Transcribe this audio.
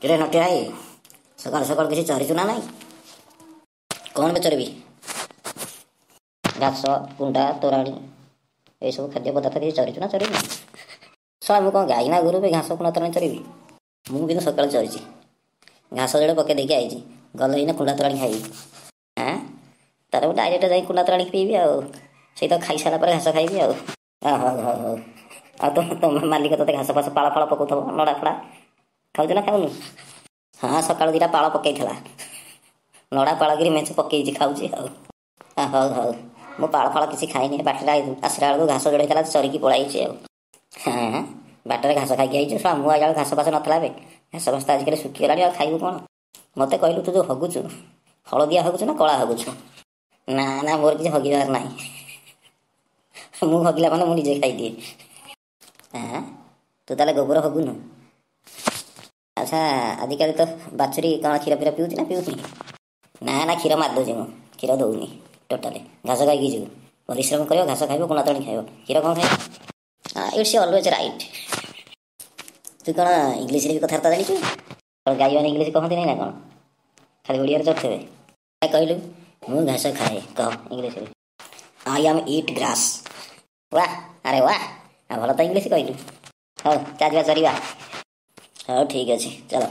କିରେ ନଟିଆ ଭାଇ, ସକାଳୁ ସକାଳୁ କିଛି ଚରିଛୁ ନା ନାଇଁ? କ'ଣ ବେ ଚରିବି? ଘାସ, କୁଣ୍ଡା, ତୋରାଣୀ ଏସବୁ ଖାଦ୍ୟ ପଦାର୍ଥ କିଛି ଚରିଛୁ ନା ଚରିନୁ? ଶଳା, ମୁଁ କ'ଣ ଗାଈ ନା ଗୋରୁ ବେ ଘାସ, କୁଣ୍ଡା, ତୋରାଣୀ ଚରିବି? ମୁଁ କିନ୍ତୁ ସକାଳୁ ଚରିଛି, ଘାସ ଯୋଡ଼େ ପକେଇ ଦେଇକି ଆଇଛି। ଗଲେ ଏଇନା କୁଣ୍ଡା ତୋରାଣୀ ଖାଇବି। ଆଁ, ତାହେଲେ ମୁଁ ଡାଇରେକ୍ଟ ଯାଇ କୁଣ୍ଡା ତୋରାଣୀ ପିଇବି, ଆଉ ସେଇ ତ ଖାଇସାରିଲା ପରେ ଘାସ ଖାଇବି। ଆଉ ହଉ ହଉ ହଉ। ଆଉ ତମ ମାଲିକ ତୋତେ ଘାସ ଫାସ, ପାଳ ଫାଳ ପକଉଥିବ, ନଡ଼ା ଫଡ଼ା ଖାଉଛୁ ନା ଖାଉନୁ? ହଁ, ସକାଳୁ 2ଟା ପାଳ ପକେଇଥିଲା, ନଡ଼ା ପାଳ କିରି ମେଞ୍ଚେ ପକେଇଛି, ଖାଉଛି। ଆଉ ହଉ ହଉ। ମୁଁ ପାଳ ଫାଳ କିଛି ଖାଇନି, ବାଟରେ ଆସିଲା ବେଳକୁ ଘାସ ଯୋଡ଼େ ହେଇଥିଲା, ଚରିକି ପଳାଇଛି। ଆଉ ହଁ, ବାଟରେ ଘାସ ଖାଇକି ଆଇଛୁ? ଶଳା, ମୁଁ ଆଇଲା ବେଳକୁ ଘାସ ଫାସ ନଥିଲା ଏବେ। ଘାସ ଫାସ ତ ଆଜିକାଲି ଶୁଖିଗଲାଣି, ଆଉ ଖାଇବୁ କ'ଣ? ମୋତେ କହିଲୁ, ତୁ ଯେଉଁ ହଗୁଛୁ, ହଳଦିଆ ହଗୁଛୁ ନା କଳା ହଗୁଛୁ? ନା ନା, ମୋର କିଛି ହଗିବାର ନାହିଁ। ମୁଁ ହଗିଲା ମାନେ ମୁଁ ନିଜେ ଖାଇଦିଏ। ହଁ, ତୁ ତାହେଲେ ଗୋବର ହଗୁନୁ? ଆଚ୍ଛା, ଆଜିକାଲି ତ ବାଛୁରୀ କ'ଣ କ୍ଷୀର ଫିର ପିଉଛି ନା ପିଉନି? ନା ନା, କ୍ଷୀର ମାରିଦେଉଛି ମୁଁ, କ୍ଷୀର ଦେଉନି ଟୋଟାଲି। ଘାସ ଖାଇକି ଯିବୁ, ପରିଶ୍ରମ କରିବ, ଘାସ ଖାଇବ, କୁଣ୍ଡା ତୋରାଣି ଖାଇବ, କ୍ଷୀର କ'ଣ ଖାଇବ? It's always right. ତୁ କ'ଣ ଇଂଲିଶରେ ବି କଥାବାର୍ତ୍ତା ଜାଣିଛୁ? ଗାଈମାନେ ଇଂଲିଶ କହନ୍ତି ନାହିଁ ନା କ'ଣ? ଖାଲି ଓଡ଼ିଆରେ ଚଢ଼ୁଥିବେ? କହିଲୁ, ମୁଁ ଘାସ ଖାଏ, କହ ଇଂଲିଶରେ। I am eat grass. ୱାହ, ଆରେ ୱାହ, ଆଉ ଭଲ ତ ଇଂଲିଶ କହିଲୁ। ହଉ, ଚାଲିବା, ଚରିବା। ହଉ, ଠିକ୍ ଅଛି, ଚାଲ।